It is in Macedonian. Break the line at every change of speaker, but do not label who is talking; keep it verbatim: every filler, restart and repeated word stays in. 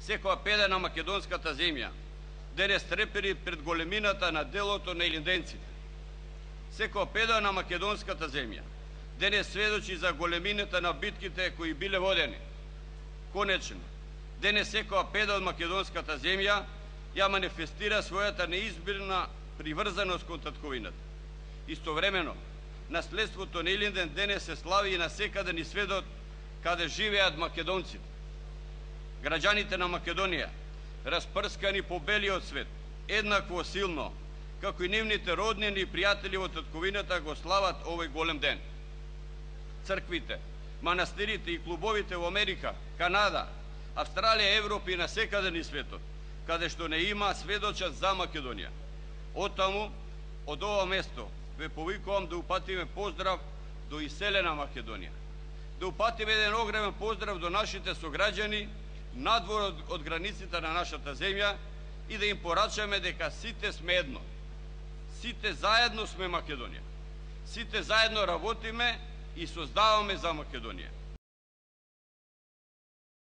секоја педа на македонската земја денес трепери пред големината на делото на илинденците. Секоја педа на македонската земја денес сведочи за големината на битките кои биле водени. Конечно, денес секоја педа од македонската земја ја манифестира својата неизбирна приврзаност кон татковината. Истовремено, наследството на Илинден денес се слави и на секаде ни светот каде живеат македонците. Граѓаните на Македонија, распрскани по белиот свет, еднакво силно, како и нивните роднини и пријатели во татковината го слават овој голем ден. Црквите, манастирите и клубовите во Америка, Канада, Австралија, Европа и на секаде ни светот, каде што не има сведочат за Македонија. Оттаму, од ова место, ве повикувам да упатиме поздрав до иселена Македонија. Да упатиме еден огромен поздрав до нашите сограѓани надвор од, од границите на нашата земја и да им порачаме дека сите сме едно. Сите заедно сме Македонија. Сите заедно работиме и создаваме за Македонија.